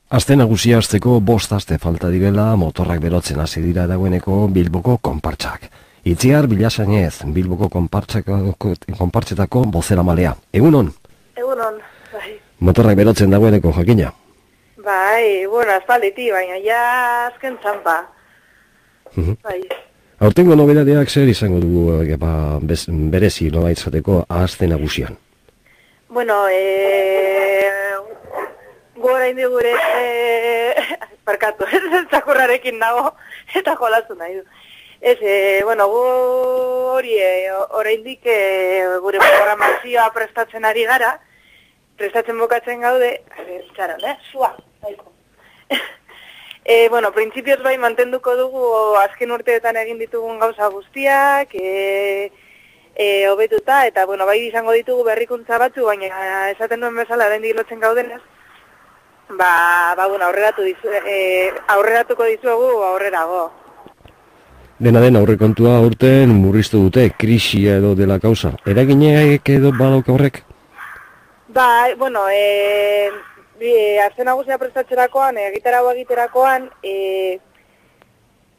Aste nagusia hasteko 5 aste falta direla motorrak berotzen hasi dira dagoeneko Bilboko konpartsak. Itziar Bilasainez, Bilboko konpartsetako bozeramalea. Egunon? Egunon, bai. Motorrak berotzen dagoeneko jakina? Bai, bueno, aspalditi, baina ja azken txampa. Bai. Aurtengo nobedadeak zer izango dugu berezi nolait izateko aste nagusian? Bueno, gora indi gure, parkatu, txakurrarekin nago, eta jolazu nahi du. Bueno, gu hori, oraindik gure programazioa prestatzen ari gara, prestatzen bukatzen gaude, txaron, sua, daiko. Bueno, printzipioz bai mantenduko dugu azken urteetan egin ditugun gauza guztiak, hobetuta, eta bueno, bai izango ditugu berrikuntza batzu, baina esaten duen bezala oraindik lotzen gaudenez, bueno, aurreratuko dizuegu aurrerago. Dena den aurrekontua urten murriztu dute, krisia edo dela kausa. Eraginek edo badauka horrek? Bai, bueno, aste nagusia prestatzerakoan, egiterakoan,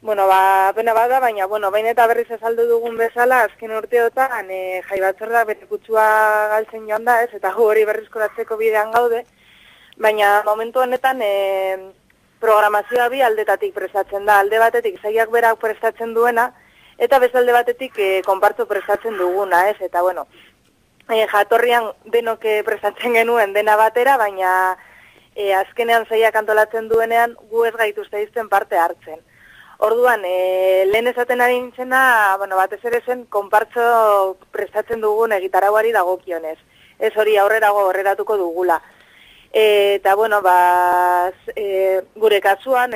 bueno, pena bada, baina, bueno, bain eta berriz azaldu dugun bezala, azken urteotan, jai batzorda bere kutsua galtzen joan da, ez, eta gu hori berrizkoratzeko bidean gaude, baina momentu honetan programazioa bi aldetatik prestatzen da, alde batetik zaiak berak prestatzen duena, eta bezalde batetik konpartzo prestatzen duguna, ez, eta bueno, jatorrian denok prestatzen genuen dena batera, baina azkenean zaiak antolatzen duenean gu ez gaituzte izten parte hartzen. Orduan, lehen esaten ari nintzena, bueno, batez ere zen konpartzo prestatzen dugun egitarauari dagokionez. Ez hori aurrerago horreratuko dugula. Eta, bueno, gure kasuan,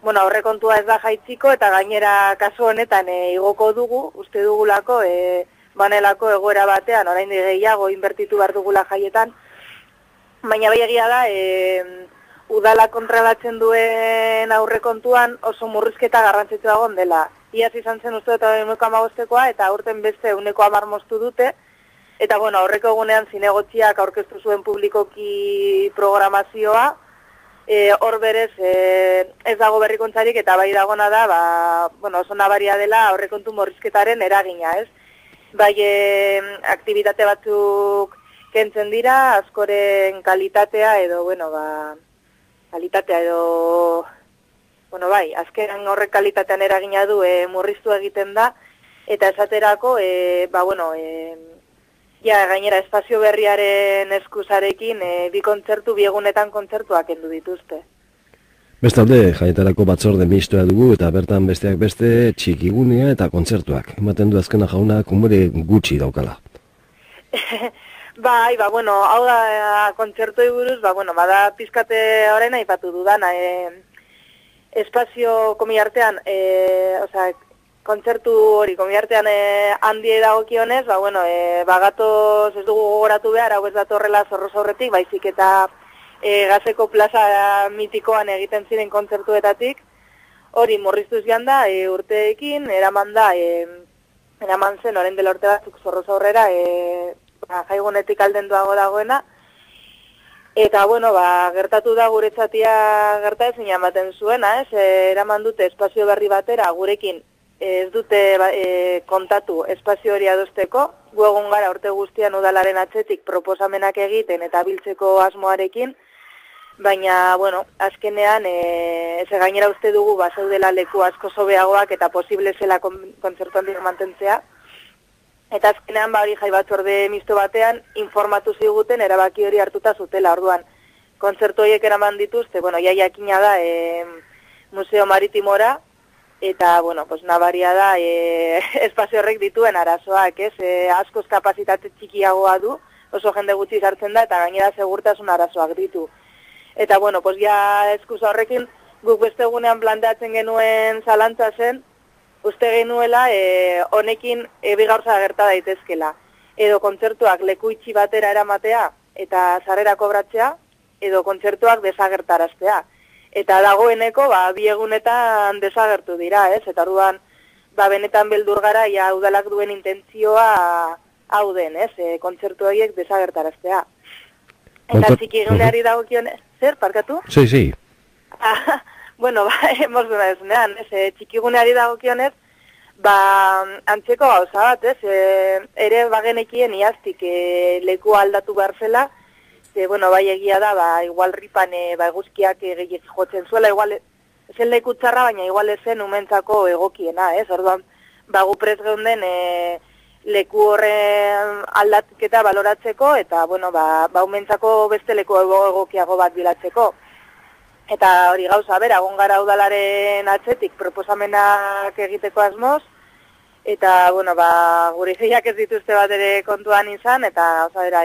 bueno, aurrekontua ez da jaitziko, eta gainera kasu honetan igoko dugu, uste dugulako, banelako egoera batean, oraindik gehiago inbertitu behar dugula jaietan, baina bai egia da, udala kontrolatzen duen aurrekontuan oso murrizketa garrantzitsua egon dela. Iaz izan zen uste eta 1,5koa, eta aurten beste 1,10 moztu dute, eta bueno, aurreko egunean zinegotziak aurkeztu zuen publikoki programazioa, hor berez ez dago berrikuntzarik, eta bai dagona da, bueno, oso nabaria dela aurrekontu murrizketaren eragina, ez? Bai, aktibitate batzuk kentzen dira, askoren kalitatea edo, bueno, bueno, bai, azkenan horrek kalitatean eragina du murriztu egiten da, eta esaterako, bueno, ja, gainera espazio berriaren eskusarekin, bi egunetan kontzertuak kendu dituzte. Bestalde, jaietarako batzorde mistoa dugu eta bertan besteak beste txikigunea eta kontzertuak. Ematen du azkena jaunak umore gutxi daukala. Bai, bueno, hau da kontzertuei buruz, bueno, bada pizkate orain aipatu dudana. Espazio komiartean, kontzertu hori komiartean handiei dagokionez, bueno, bagatoz ez dugu gogoratu behar, hau ez datorrela Zorroz aurretik, baizik eta Gazeko plaza mitikoan egiten ziren kontzertuetatik, hori murriztuz joan da, urteekin, eraman zen, orain dela urte batzuk Zorroz aurrera, jaigunetik aldenduago dagoena, eta, bueno, gertatu da guretzatia gerta ezin ematen zuena, ez, eraman dute espazio berri batera, gurekin ez dute kontatu espazio hori adosteko, gu egun gara urte guztian udalaren atzetik proposamenak egiten eta biltzeko asmoarekin, baina, bueno, azkenean, gainera uste dugu bazeudela leku asko sobeagoak eta posible zela kontzertu handik mantentzea. Eta azkenean, hori jai batzorde misto batean, informatu ziguten erabaki hori hartuta zutela, orduan. Kontzertu horiek eraman dituzte, bueno, jakina da Museo Maritimora, eta, bueno, pues nabaria da espazio horrek dituen arazoak, ez? Askoz kapazitate txikiagoa du, oso jende gutxi sartzen da, eta gainera segurtasun arazoak ditu. Eta, bueno, pues ja eskusa horrekin, guk beste egunean planteatzen genuen zalantza zen, uste genuela honekin bi gauza gerta daitezkela. Edo kontzertuak leku itxi batera eramatea eta sarrera kobratzea, edo kontzertuak desagertaraztea. Eta dagoeneko, bi egunetan desagertu dira, ez? Eta orduan, benetan beldur gara, ja udalak duen intentzioa hau den, ez? Kontzertu horiek desagertaraztea. Eta txikiguneari dagokionez, Zer, parkatu? Sí. Bueno, hemos duna ezunean, txikiguneari dagokionez, antzeko gauza bat, ere bagenekien iaztik leku aldatu behar zela, bueno, bai egia da, igual ripan eguzkiak gehiagik jotzen zuela, igual zen leku txarra, baina igual ezen umentzako egokiena, orduan, gu prez geunden leku horren aldatketa baloratzeko, eta, bueno, umentzako beste leku egokiago bat bilatzeko. Eta hori gauza, bera, egon gara udalaren atzetik proposamenak egiteko asmoz, eta, bueno, gure ideiak ez dituzte bat ere kontuan izan, eta, oza, bera,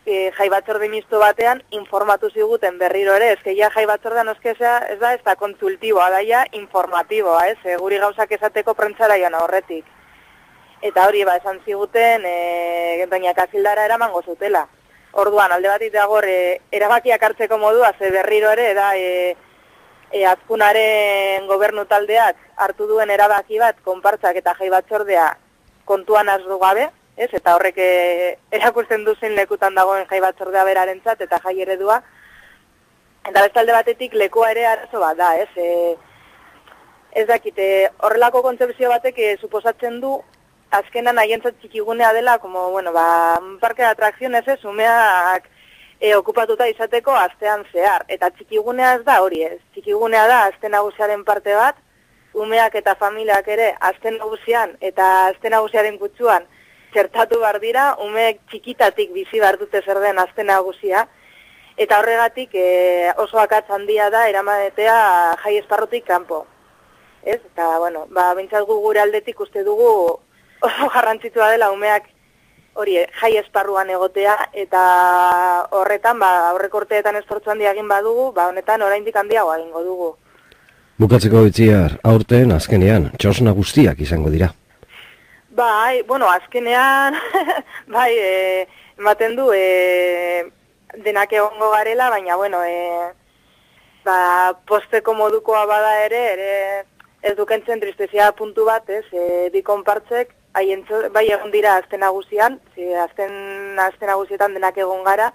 jai batzorde misto batean informatu ziguten berriro ere, ja jai batzordean ez da konsultiboa, daia informatiboa, guri gauzak esateko prentzara joan horretik. Eta hori, esan ziguten, baina kasildara eramango zutela. Orduan, alde batik dago erabakiak hartzeko modua, ze berriro ere, da Azkunaren gobernu taldeak hartu duen erabaki bat, konpartzak eta jai batzordea kontuan azdu gabe, eta horrek erakusten duzen lekutan dagoen jai batzordea berarentzat eta jai eredua. Eta beste alde batetik lekua ere arazo bat da, ez dakite, horrelako kontzepzio batek suposatzen du azkenan haientzat txikigunea dela, como, bueno, parke de atrakzionez umeak okupatuta izateko astean zehar. Eta txikigunea ez da hori, txikigunea da aste nagusiaren parte bat, umeak eta familiak ere aste nagusian eta aste nagusiaren kutsuan txertatu behar dira, umeek txikitatik bizi behar dute zer den aste nagusia, eta horregatik oso akatz handia da eramatea jai esparrutik kanpo. Eta, bueno, bintzat gure aldetik uste dugu oso garrantzitsua dela umeak hori jai esparruan egotea, eta horretan, aurreko urteetan esfortzu handia egin badugu, honetan oraindik handiagoa egingo dugu. Bukatzeko Itziar, aurten azkenean, txosna guztiak izango dira. Bueno, azkenean, ematen du denak egongo garela, baina, bueno, posteko modukoa bada ere ez dukentzen tristezia puntu bat, bi konpartzek, bai egon dira azte nagusian, azte nagusietan denak egon gara,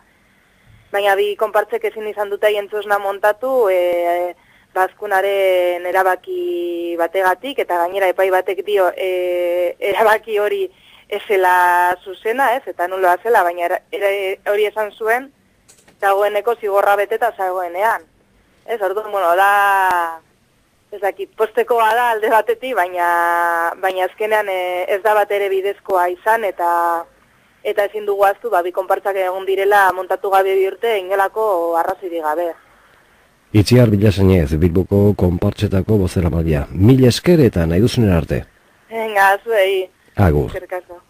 baina bi konpartzek ezin izan dute haientzosna montatu, Azkunaren erabaki bategatik, eta gainera epai batek dio erabaki hori ezela zuzena, eta nuloa zela, baina hori esan zuen, dagoeneko zigorra beteta zagoenean. Orduan, bueno, da, ez dakit, postekoa da alde batetik, baina azkenean ez da bat ere bidezkoa izan, eta ezin dugu aztu, bi konpartzak egon direla montatu gabe bi urte, inolako arrazoirik gabe. Itziar Bilasainez, Bilboko konpartzetako bozeramailea. Mil esker eta nahi duzunen arte. Venga, zuei. Agur. Eskerrik asko.